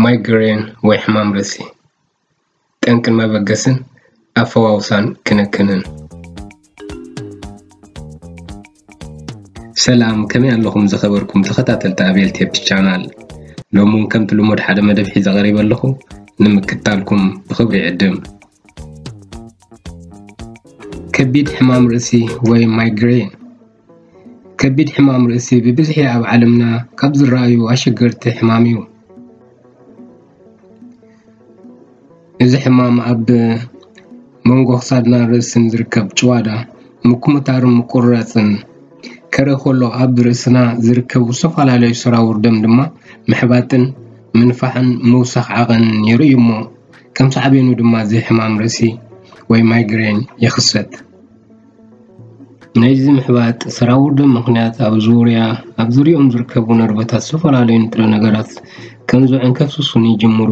ማይግሬን ወይ ሕማም ርእሲ፣ ጠንቅን መበገስን ኣፈዋውሳን ክንክንን። ሰላም፣ ከመይ ኣለኹም ዝኸበርኩም ተኸታተልቲ ኣቤል ቴፕ ቻናል? ሎሚ እውን ከምቲ ልሙድ ሓደ መደብ ሒዘ ቀሪበ ኣለኹ፣ ንምክታልኩም ብኽብሪ ይዕድም። ከቢድ ሕማም ርእሲ ወይ ማይግሬን። ከቢድ ሕማም ርእሲ ብብዝሒ ኣብ ዓለምና ካብ ዝረኣዩ ኣሸገርቲ ሕማም እዩ። እዚ ሕማም ኣብ መንጎ ክሳድና ርእስን ዝርከብ ጭዋዳ ምኩምታርን ምቁርራፅን ከረ ከሎ፣ ኣብ ርእስና ዝርከቡ ዝተፈላለዩ ሰራውር ደም ድማ ምሕባጥን ምንፋሕን ምውሳኽ ዓቐን የርእዩ እሞ፣ ከም ሳዕቤኑ ድማ እዚ ሕማም ርእሲ ወይ ማይግሬን ይኽሰት። ናይዚ ምሕባጥ ሰራውር ደም ምኽንያት ኣብ ዙርያ፣ ኣብ ዙርያኦም ዝርከቡ ነርቨታት ዝተፈላለዩ ንጥረ ነገራት ከም ዝውዕን ከፍስሱን ይጅምሩ።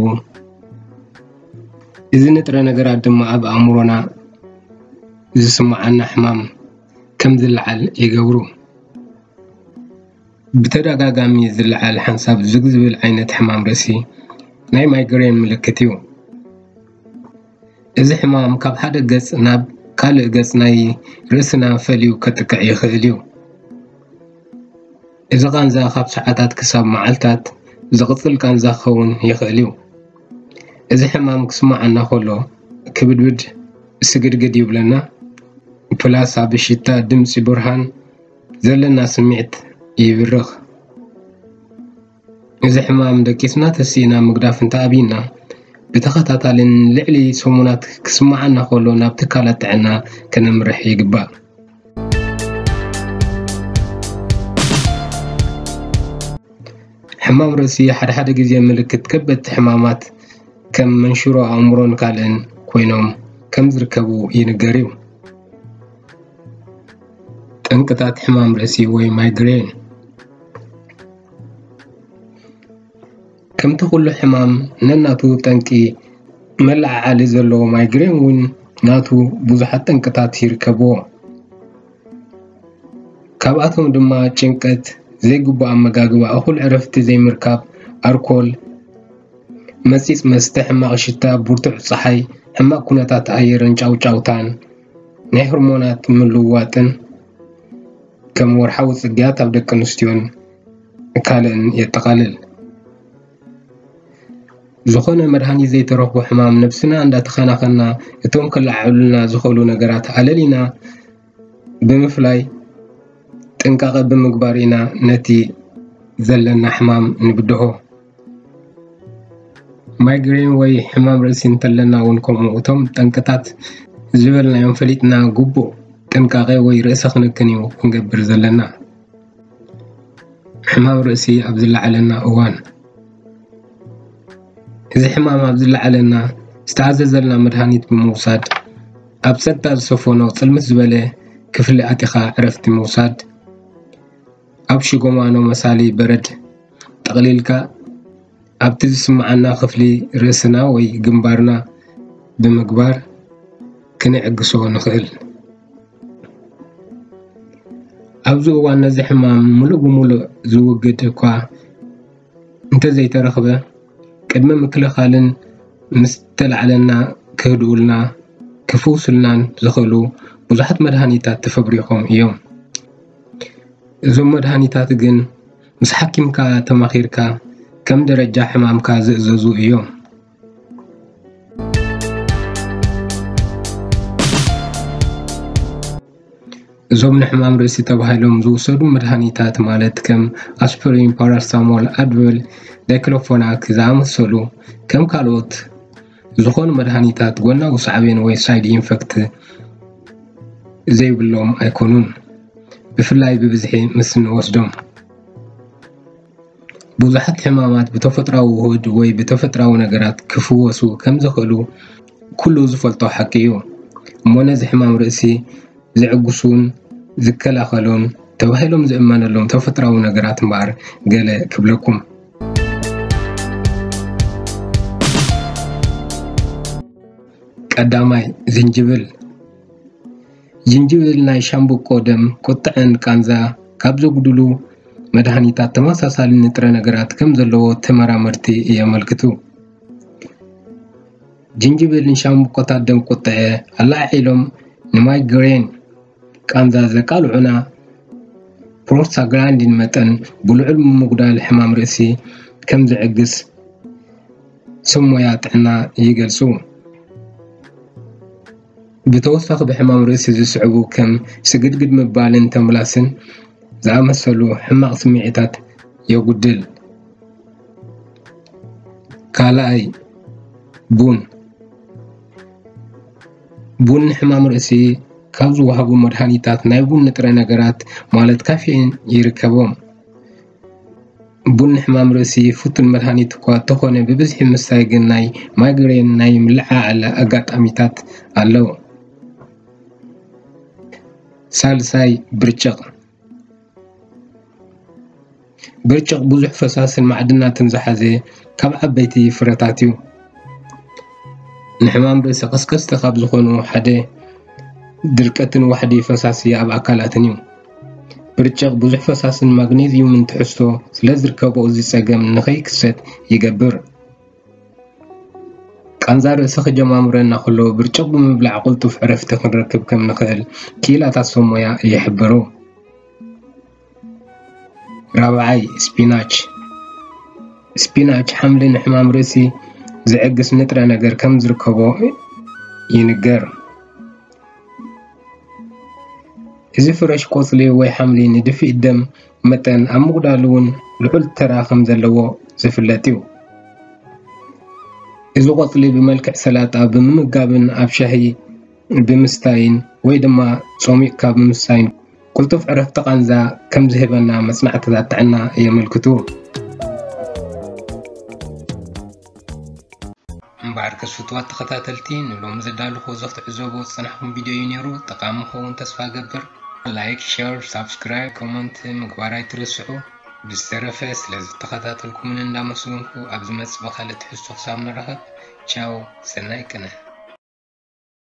እዚ ንጥረ ነገራት ድማ ኣብ ኣእምሮና ዝስምዓና ሕማም ከም ዝለዓል ይገብሩ። ብተደጋጋሚ ዝለዓል ሓንሳብ ዝግ ዝብል ዓይነት ሕማም ርእሲ ናይ ማይግሬን ምልክት እዩ። እዚ ሕማም ካብ ሓደ ገጽ ናብ ካልእ ገጽ ናይ ርእስና ፈልዩ ከጥቅዕ ይኽእል እዩ። እዚ ቃንዛ ካብ ሰዓታት ክሳብ መዓልታት ዝቕጽል ቃንዛ ክኸውን ይኽእል እዩ። እዚ ሕማም ክስምዓና ከሎ ክብድብድ ስግድግድ ይብለና፣ ፕላስ ኣብ ሽታ፣ ድምጺ፣ ብርሃን ዘለና ስምዒት ይብርኽ። እዚ ሕማም ደቂስና ተሲእና ምግዳፍ እንተኣብይና፣ ብተኸታታሊ ንልዕሊ ሰሙናት ክስምዓና ከሎ ናብ ትካላት ጥዕና ከነምርሕ ይግባእ። ሕማም ርእሲ ሓደ ሓደ ግዜ ምልክት ከበድቲ ሕማማት ከም መንሽሮ ኣእምሮን ካልእን ኮይኖም ከም ዝርከቡ ይንገር እዩ። ጠንቅታት ሕማም ርእሲ ወይ ማይግሬን። ከምቲ ኩሉ ሕማም ነናቱ ጠንቂ መለዓዓሊ ዘለዎ፣ ማይግሬን እውን ናቱ ብዙሓት ጠንቅታት ይርከብዎ። ካብኣቶም ድማ ጭንቀት፣ ዘይግቡእ ኣመጋግባ፣ እኹል ዕረፍቲ ዘይምርካብ፣ ኣርኮል፣ መጺጽ መስተ፣ ሕማቕ ሽታ፣ ብርቱዕ ጸሓይ፣ ሕማቕ ኩነታት ኣየርን ጫውጫውታን፣ ናይ ሆርሞናት ምልውዋጥን ከም ወርሓዊ ጽግያት ኣብ ደቂ ኣንስትዮን ካልእን የጠቓልል። ዝኾነ መድሃኒት ዘይተረኽቦ ሕማም ነብስና እንዳተኸናኸና፣ እቶም ክለዓዕሉልና ዝኽእሉ ነገራት ኣለሊና ብምፍላይ ጥንቃቐ ብምግባር ኢና ነቲ ዘለና ሕማም ንብድሆ። ማይግሬን ወይ ሕማም ርእሲ እንተለና እውን ከምኡ፣ እቶም ጠንቅታት ዝበልናዮም ፈሊጥና ግቡእ ጥንቃቐ ወይ ርእሰ ክንክን እዩ ክንገብር ዘለና። ሕማም ርእሲ ኣብ ዝለዓለና እዋን። እዚ ሕማም ኣብ ዝለዓለና ዝተኣዘዘልና መድሃኒት ብምውሳድ፣ ኣብ ጸጥታ ዝሰፈኖ ጽልምት ዝበለ ክፍሊ ኣቲኻ ዕረፍቲ ምውሳድ፣ ኣብ ሽጎማኖ መሳሊ በረድ ጠቕሊልካ ኣብቲ ዝስምዓና ክፍሊ ርእስና ወይ ግንባርና ብምግባር ክንዕግሶ ንኽእል። ኣብዚ እዋን ነዚ ሕማም ምሉእ ብምሉእ ዝውግድ እኳ እንተዘይተረኽበ፣ ቅድመ ምክልኻልን ምስ ተላዕለና ክህድኡልና፣ ክፍውሱልናን ዝኽእሉ ብዙሓት መድሃኒታት ተፈብሪኾም እዮም። እዞም መድሃኒታት ግን ምስ ሓኪምካ ተማኺርካ ከም ደረጃ ሕማምካ ዝእዘዙ እዮም። እዞም ንሕማም ርእሲ ተባሂሎም ዝውሰዱ መድሃኒታት፣ ማለት ከም ኣስፕሪን፣ ፓራስታሞል፣ ኣድቨል፣ ዳይክሎፎናክ ዝኣመሰሉ፣ ከም ካልኦት ዝኾኑ መድሃኒታት ጎናዊ ሳዕቤን ወይ ሳይድ ኢንፈክት ዘይብሎም ኣይኮኑን፣ ብፍላይ ብብዝሒ ምስ እንወስዶም። ብዙሓት ሕማማት ብተፈጥራዊ ውሁድ ወይ ብተፈጥራዊ ነገራት ክፍወሱ ከም ዝኽእሉ ኩሉ ዝፈልጦ ሓቂ እዩ። እሞ ነዚ ሕማም ርእሲ ዝዕግሱን ዝከላኸሉን ተባሂሎም ዝእመነሎም ተፈጥራዊ ነገራት እምበኣር ገለ ክብለኩም። ቀዳማይ፣ ዝንጅብል። ዝንጅብል ናይ ሻምብቆ ደም ቁጥዐን ቃንዛ ካብ ዘጉድሉ መድሃኒታት ተመሳሳሊ ንጥረ ነገራት ከም ዘለዎ ተመራመርቲ የመልክቱ። ጅንጅብልን ሻምብቆታት ደም ቁጥዐ ኣላዒሎም ንማይግሬን ቃንዛ ዘቃልዑና ፕሮስታግራንዲን መጠን ብልዑል ምጉዳል ሕማም ርእሲ ከም ዝዕግስ ሰብ ሞያ ጥዕና ይገልጹ። ብተወሳኺ ብሕማም ርእሲ ዝስዕቡ ከም ስግድግድ ምባልን ተምላስን ዝኣመሰሉ ሕማቕ ስምዒታት የጉድል። ካልኣይ፣ ቡን። ቡን ንሕማም ርእሲ ካብ ዝወሃቡ መድሃኒታት ናይ ቡን ንጥረ ነገራት ማለት ካፌን ይርከቦም። ቡን ንሕማም ርእሲ ፍቱን መድሃኒት እኳ እንተኾነ ብብዝሒ ምስታይ ግን ናይ ማይግሬን ናይ ምልዕዓል ኣጋጣሚታት ኣለዎ። ሳልሳይ፣ ብርጭቕ። ብርጭቕ ብዙሕ ፈሳስን ማዕድናትን ዝሓዘ ካብ ዓበይቲ ፍረታት እዩ። ንሕማም ርእሲ ቀስቀስቲ ካብ ዝኾኑ ሓደ ድርቀትን ዋሕዲ ፈሳሲ ኣብ ኣካላትን እዩ። ብርጭቕ ብዙሕ ፈሳስን ማግኔዝዩምን ትሕዝቶ ስለ ዝርከቦ እዚ ጸገም ንኸይክሰት ይገብር። ቃንዛ ርእሲ ክጀማምረና ከሎ ብርጭቕ ብምብላዕ ቅልጡፍ ዕረፍቲ ክንረክብ ከም ንኽእል ክኢላታት ሰብ ሞያ ይሕብሩ። ራብዓይ፣ ስፒናች። ስፒናች ሓምሊ ንሕማም ርእሲ ዝዕግስ ንጥረ ነገር ከም ዝርከቦ ይንገር። እዚ ፍረሽ ቆጽሊ ወይ ሓምሊ ንድፍኢት ደም መጠን ኣብ ምጉዳል እውን ልዑል ተራ ከም ዘለዎ ዝፍለጥ እዩ። እዚ ቆጽሊ ብመልክዕ ሰላጣ ብምምጋብን ኣብ ሻሂ ብምስታይን ወይ ድማ ጾሚቕካ ብምስታይን ቅልጡፍ ዕረፍቲ ቃንዛ ከም ዝህበና መጽናዕትታት ጥዕና የመልክቱ። እምበኣርከስ ፍቱዋት ተኸታተልቲ፣ ንሎሚ ዘዳለኹዎ እዚ ክትዕዘብዎ ዝጸናሕኩም ቪድዮ እዩ ነይሩ። ጠቓሚ ክኸውን ተስፋ እገብር። ላይክ፣ ሸር፣ ሳብስክራይብ፣ ኮመንት ምግባር ኣይትረስዑ። ብዝተረፈ ስለ ዝተኸታተልኩምን እንዳመስገንኩ፣ ኣብ ዝመጽእ ብኻልእ ትሕዝቶ ክሳብ ንራኸብ፣ ቻው፣ ሰናይ ቅነ።